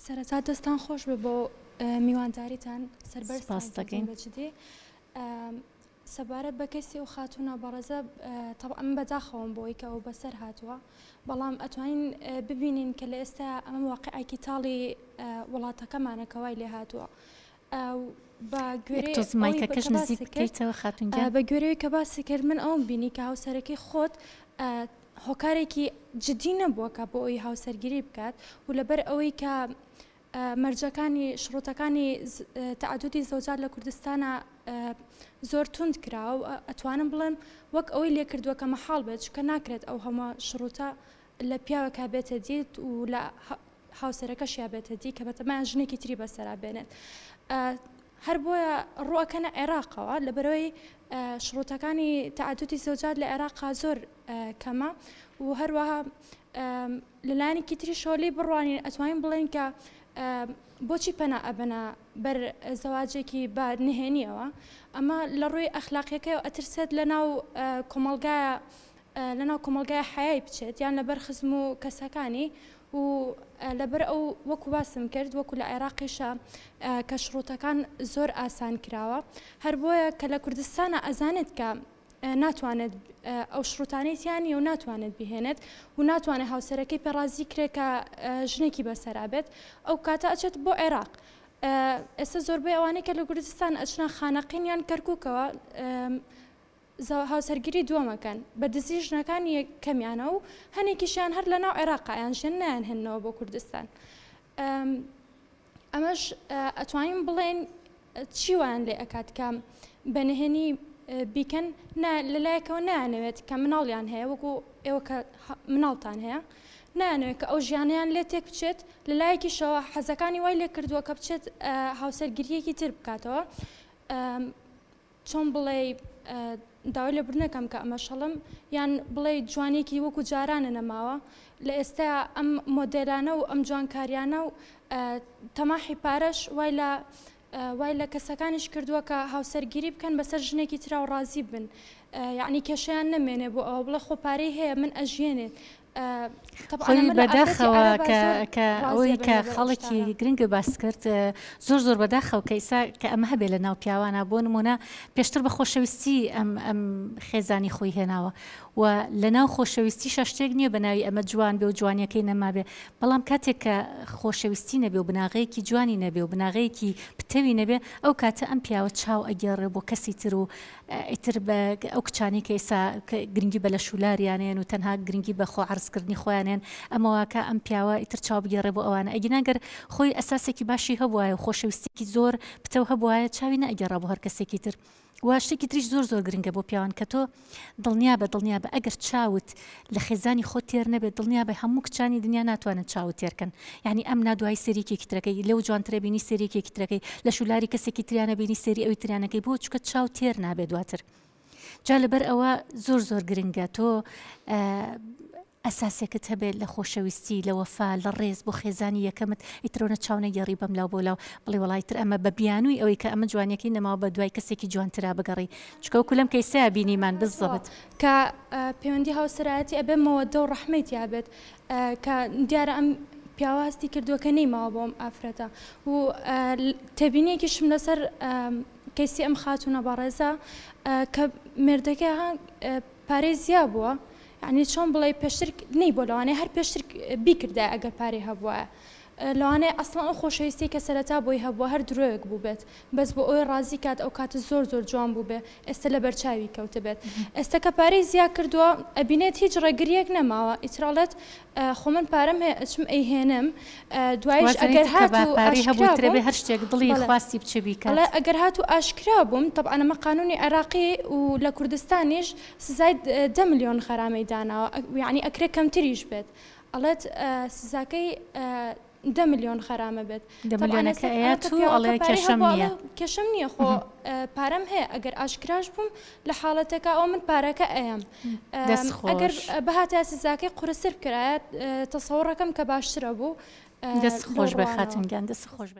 سەرەتا دەستان خۆش بێ بۆ میوانداریتان سەربەرزتان سپاست دەکەین. بە جدی سەبارەت بە کەیسی ئەو خاتوونە بەڕێزە تەبعەن من بەداخەوەم بۆی کە ئەو بەسەر هاتووە بەڵام ئەتوانین ببینین کە لە ئێستا ئەمە واقعێکی تاڵی وڵاتەکەمانە کە وای لێ هاتووە بە گوێرەی تۆز مایکەکەش نزیک بکەیتەوە خاتوون گیان. بە گوێرەی کە باسی کرد من ئەوم بینی کە هاوسەرەکەی خۆت هۆکارێکی جدی نەبووە کە بۆ ئەوی هاوسەرگیری بکات و لەبەر ئەوەی کە مەرجەکانی شڕوتەکانی تەعەدودی زەوجات لە کوردستانا زۆر توند کراوە و ئەتوانم بڵێم وەک ئەوەی لێ کردووە کە مەحاڵ بێت چونکە ناکرێت ئەو هەموو شڕوتە لە پیاوێکا بێتە دی و لە هاوسەرەکەشیا بێتە دی کە بەتەمایان ژنێکی تری بەسەرا بێنێت هەر بۆیە ڕووەکەنە عێراقەوە لەبەرەوەی شڕوتەکانی تەعەدودی زەوجات لە عێراقا زۆر کەمە و هەروەها لە لایەنێکی تریشەوە لێی بڕوانین ئەتوانین بڵێین کە بۆچی پەنا ئەبەنە بەر زەواجێکی بە نهێنیەوە ئەمە لە ڕووی ئەخلاقیەکەی ئەترسێت لە ناو کۆمەڵگایە لە ناو کۆمەڵگای حیای بچێت یان لەبەر خزم و کەسەکانی و لەبەر ئەو وەکو باسم کرد وەکو لە عێراقیشە کە شڕوتەکان زۆر ئاسان کراوە هەر بۆیە کە لە کوردستانە ئەزانێت کە ناتوانێت ئەو شروتانەی تیا نییە و ناتوانێت بیهێنێت و ناتوانێت هاوسەرەکەی پێ ڕازی کرێ کە ژنێکی بەسەرا بێت ئەو کاتە ئەچێت بۆ عێراق ئێستا زۆربەی ئەوانەی کە لە کوردستان ئەچنە خانەقین یان کەرکووکەوە هاوسەرگیری دووەمەکەن بە دزی ژنەکانی کەمیانە و هەنێکیشیان هەر لە ناو عێراقیان ژێن نایان هێننەوە بۆ کوردستان ئەمەش ئەتوانین بڵێن چی وایان لێ ئەکات کە بە نهێنی بیکەن نا لەلایەکەوە نایانەوێت کە مناڵیان هەیە وەکو ئێوە کە مناڵتان هەیە نایانەوێت کە ئەو ژیانیان لێ تێک بچێت لەلایەکیشەوە حەزەکانی وای لێ کردووە کە بچێت هاوسەرگیریەکی تر بکاتەوە چۆن بڵێی داوای لێبوردنەکەم کە ئەمەش هەڵم یان بڵێی جوانیەکی وەکو جارانە نەماوە لە ئێستا ئەم مۆدێلانە و ئەم جوانکاریانە و تەماحی پارەش وای لە وای لە کەسەکانیش کردووە کە هاوسەرگیری بکەن بەسەر ژنێکی ترا و ڕازی بن یعنی کێشەیان نەمێنێ بۆ ئەوە بڵێ خۆ پارەی هەیە من ئەژیێنێت خۆی بەداخەوە کە ئەوەی کە خاڵێکی گرنگە باس کرد زۆر زۆر بەداخەوە کە ئیسا کە ئەمە هەبێ لە ناو پیاوانە بۆ نمونە پێشتر بە خۆشەویستی ئەم ئەم خێزانی خۆی هێناوە و لە ناو خۆشەویستی شتێک نییە بە ناوی ئەمە جوان بێ و جوانیەکەی نەمابێ بەڵام کاتێک کە خۆشەویستی نەبێ و بناغەیەکی جوانی نەبێ و بناغەیەکی پتەوی نەبێ ئەو کاتە ئەم پیاوە چاو ئەگێڕێ بۆ کەسی تر و ئیتر بە ئەو کچانەی کە ئێستا گرنگی بە لەشولاریان ئەیەن و تەنها گرنگی بە خۆ عەرزکردنی خۆیان ئەیەن ئەمە واکا ئەم پیاوە ئیتر چاو بگێڕێ بۆ ئەوانە ئەگینا گەر خۆی ئەساسێکی باشی هەبوایە و خۆشەویستیەکی زۆر پتەو هەبوایە چاوی نەئەگێڕا بۆ هەر کەسێکی تر وە شتێکی تریش زۆر زۆر گرنگە بۆ پیاوان کە تۆ دڵنیابە دڵنیابە ئەگەر چاوت لە خێزانی خۆت تێر نەبێت دڵنیابە هەموو کچانی دنیا ناتوانن چاوت تێرکەن یعنی ئەم نادوایی سێری یەکێکی ترەکەی لەو جوانترە بینی سێری یەکێکی ترەکەی لە شولاری کەسێکی تریانە بینی سێری ئەوی تریانەکەی بۆ چکە چاو تێر نابێت دواتر جا لەبەر ئەوە زۆر زۆر گرنگە تۆ ئەساسێکت هەبێت لە خۆشەویستی، لە وەفا، لە ڕێز بۆ خێزانی یەکەمت، ئیتر ئەونە چاو نەگێڕی بەم لاو بەو لاو، بڵێی وەڵا ئیتر ئەمە بە بیانووی ئەوەی کە ئەمە جوانیەکەی نەماوە بە دوای کەسێکی جوانترا بگەڕێی، چونکە وەکو لەم کەیسەیا بینیمان بالضبط. کە پەیوەندی هاوسەرایەتی ئەبێ مەوەدە و ڕەحمەی تیا بێت کە دیارە ئەم پیاوە هەستی کردووە کە نەیماوە بۆ ئەم ئافرەتە و تێبینیەکیشم لەسەر کەیسی ئەم خاتوونە بەڕێزە کە مێردەکەی ها پارەی زیا بووە یانی چۆن بڵێی پێشتر نەیبووە لەوانەیە هەر پێشتر بیکردایە ئەگەر پارەی هەبوایە لەوانەیە ئەسڵەن ئەو خۆشەویستی کە سەرەتا بۆی هەبووە هەر درۆیەک بووبێت بەس بۆ ئەوەی ڕازی کات ئەو کاتە زۆر زۆر جوان بووبێ ئێستا لەبەر چاوی کەوتبێت ئێستا کە پارەی زیا کردووە ئەبینێت هیچ ڕێگریەک نەماوە ئیتر ئەڵێت خۆ من پارەم هەیە ئەچم ئەیهێنم دوایش ئەگەر هاتوو ئاشکرا بووم هەر شتێک دڵی خواستی بچێ بیکات. ئەڵێ ئەگەر هاتوو ئاشکرا بووم تەبعەن ئەمە قانونی عێراقی و لە کوردستانیش سزای دە ملیۆن غەرامەی داناوە یەعنی ئەکرێ کەمتریش بێت ئەڵێت سزاکەی دە ملیۆن غەرامە بێت دە ملیۆنەکە ئەیات و ئەڵێ کێشەم نییە کێشەم نییە خۆ پارەم هەیە ئەگەر ئاشکراش بووم لە حاڵەتەکە ئەو من پارەکە ئەیەم ئەگەر بهاتە سزاکەی قورستر بکرایە تەسەوڕەکەم کە باشترە بوو دەست خۆش بێ خاتون گیان دەست خۆش بێ.